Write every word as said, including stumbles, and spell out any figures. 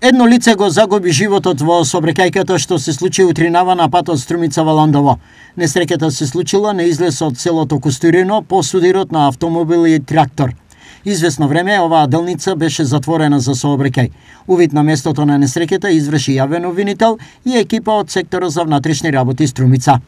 Едно лице го загуби животот во сообраќајката што се случи утринава на патот Струмица-Валандово. Несреќата се случила на излез од селото Костурино по судирот на автомобил и трактор. Известно време оваа делница беше затворена за сообраќај. Увид на местото на несреќата изврши јавен обвинител и екипа од секторот за внатрешни работи Струмица.